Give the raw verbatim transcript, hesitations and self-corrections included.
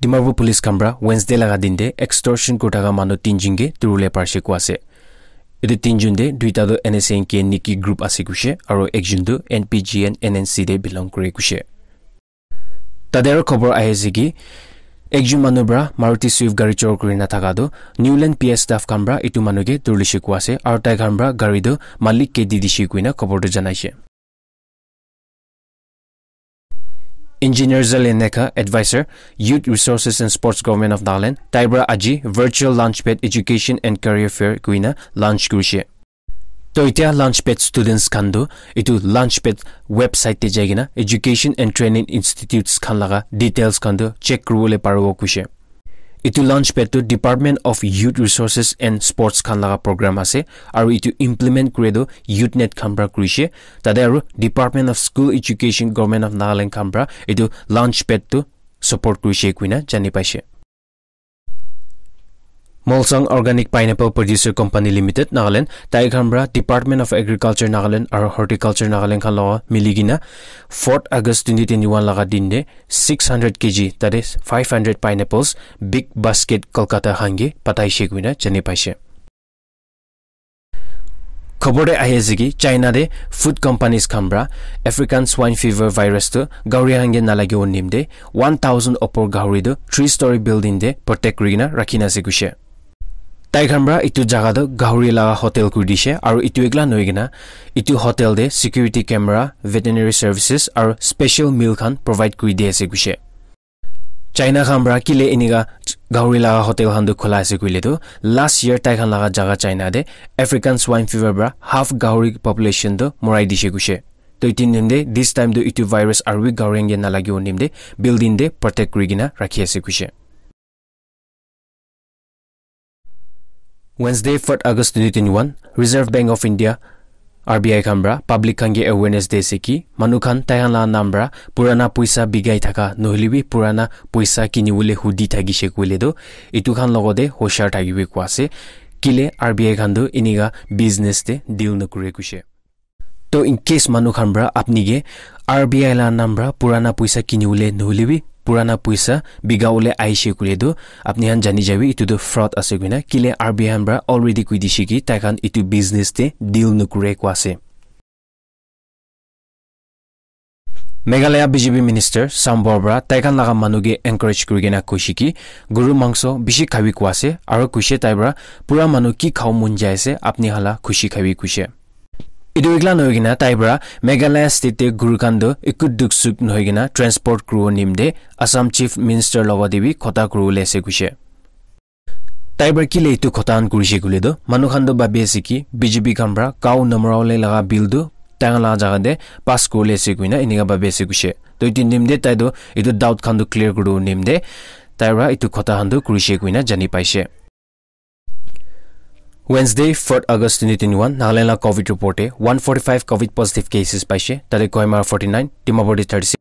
Dimapur police khan pra Wednesday laga din te extortion kurtaka manu tinjun ke durule parshe kua ase. Etu tinjun te duita tu N S A N K Niki group ase kushe, aro ekjun tu N P G N N N C te belong kure kushe. Tate aro khobor ahi ase ki, ekjun manu pra Maruti Swift gari chor kuri na thaka tu Newland P S staff khan pra etu manu ke durlishe kua ase, aro tai khan pra gari tu malik ke di dishe kuina khobor tu janaishe. Engineer Zalen Nekha, Advisor, Youth Resources and Sports, Government of Nagaland, tai pra aji Virtual Launchpad Education and Career Fair kuina launch kurishe. To itya Launchpad students khan tu etu Launchpad website te jai kena Education and Training Institutes khan laga details khan tu check kuribole paribo kushe. Etu Launchpad tu Department of Youth Resources and Sports khan laga program ase, aru etu implement kure tu Youth Net khan pra kurishe, tate aru Department of School Education, Government of Nagaland khan pra etu Launchpad tu support kurishe kuina jani paishe. Molsang Organic Pineapple Producer Company Limited, Nagaland, tai khan pra Department of Agriculture, Nagaland aru Horticulture, Nagaland khan laga mili kena fourth August twenty twenty-one laga din te six hundred K G, that is five hundred pineapples, big basket Kolkata hange pataishe kuina jani paishe. Khobor te ahi ase ki China te food companies khan pra African Swine Fever virus tu gahuri hange nalagibo nimte one thousand opor gahuri tu three story building te protect kurikena rakhina ase kushe. Tai khan pra etu jaga tu gahuri laga hotel kuri dishe, aru etu ekla nohoi kena etu hotel te security camera, veterinary services aru special meal khan provide kuri di ase kushe. China khan pra kile enika gahuri laga hotel khan tu khula ase koile tu, last year tai khan laga jaga China te African Swine Fever pra half gahuri population tu morai dishe kushe. To etu nimte this time tu etu virus aru bi gahuri hange nalagibo nimte building te protect kurikena rakhi ase kushe. Wednesday, fourth August twenty twenty-one, Reserve Bank of India, R B I khan pra public khan ke awareness de ase ki manu khan tai khan la nam pra purana poisa bigai thaka nohole bi purana poisa kini bole hudi thakishe koile tu etu khan logote hoshar thakibi koi ase, kile R B I khan tu enika business te deal nokore kushe. To in case manu khan pra apni ke R B I la nam pra purana poisa kini bole nohole bi purana poisa biga bole aishe koile tu apni khan jani jabi etu tu fraud ase koina, kile R B I khan pra already koi dishe ki tai khan etu business te deal nokore koi ase. Meghalaya B J P minister Sambor pra tai khan laga manu ke encourage kuri kena koishe ki guru mangso bishi khabi koi ase, aro koishe tai pra pura manu ki khabo mon jai ase apni khan la khushi khabi koishe. Etu ekla nohoi kena tai pra Meghalaya state te guru khan tu eku duk suk nohoi kena transport kuribo nimte Assam Chief Minister logote bi khota kuribole ase koishe. Tai pra kile etu khota khan kurishe koile tu manu khan tu bhabi ase ki B J P khan pra cow namorabole laga bill tu tai khan laga jaga te pass kuribole ase koina enika bhabi ase koishe. To etu nimte tai tu etu doubt khan tu clear kuribo nimte tai pra etu khota khan tu kurishe koina jani paishe. Wednesday, fourth August twenty twenty-one, Nagaland la covid report te one forty-five covid positive cases paishe, tate Kohima forty-nine, Dimapur te thirty-six,